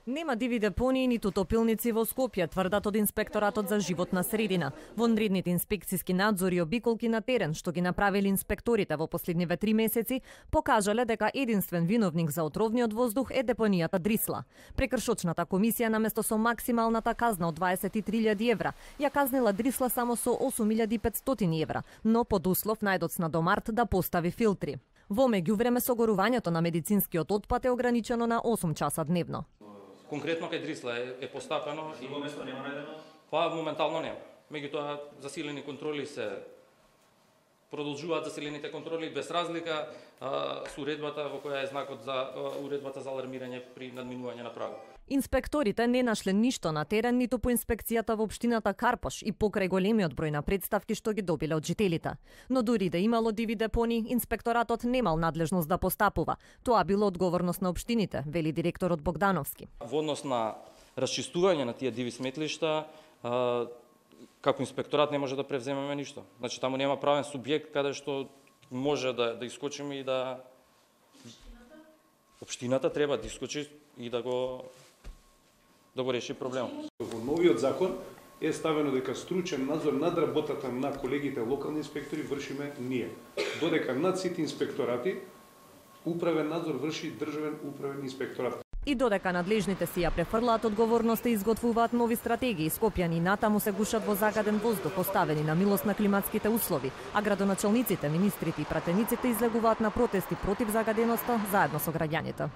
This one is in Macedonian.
Нема диви депонии ниту топилници во Скопје, тврдат од Инспекторатот за животна средина. Вонредните инспекциски надзори и обиколки на терен, што ги направили инспекторите во последниве 3 месеци, покажале дека единствен виновник за отровниот воздух е депонијата Дрисла. Прекршочната комисија наместо со максималната казна од 23.000 евра, ја казнила Дрисла само со 8.500 евра, но под услов најдоцна до март да постави филтри. Во меѓувреме согорувањето на медицинскиот отпад е ограничено на 8 часа дневно. Конкретно кај Дрисла е постапено и во место нема најдено? Па моментално нема. Меѓутоа засилени контроли се продолжуваат, засилените контроли без разлика со уредбата во која е знакот за уредбата за алармирање при надминување на прагот. Инспекторите не нашле ништо на терен ниту по инспекцијата во општината Карпош и покрај големиот број на представки што ги добиле од жителите. Но дури да имало диви депони, инспекторатот немал надлежност да постапува. Тоа било одговорност на општините, вели директорот Богдановски. Во однос на расчистување на тие диви сметлишта, како инспекторат не може да превземеме ништо. Значи таму нема правен субјект каде што може да искочиме и да општината треба да искочи и да го реши проблемот. Во новиот закон е ставено дека стручен надзор над работата на колегите локални инспектори вршиме ние. Додека над сите инспекторати управен надзор врши државен управен инспекторат. И додека надлежните си ја префрлаат одговорноста и изготвуваат нови стратегии, скопјани натаму се гушат во загаден воздух, оставени на милост на климатските услови, а градоначалниците, министрите и пратениците излегуваат на протести против загаденоста заедно со граѓаните.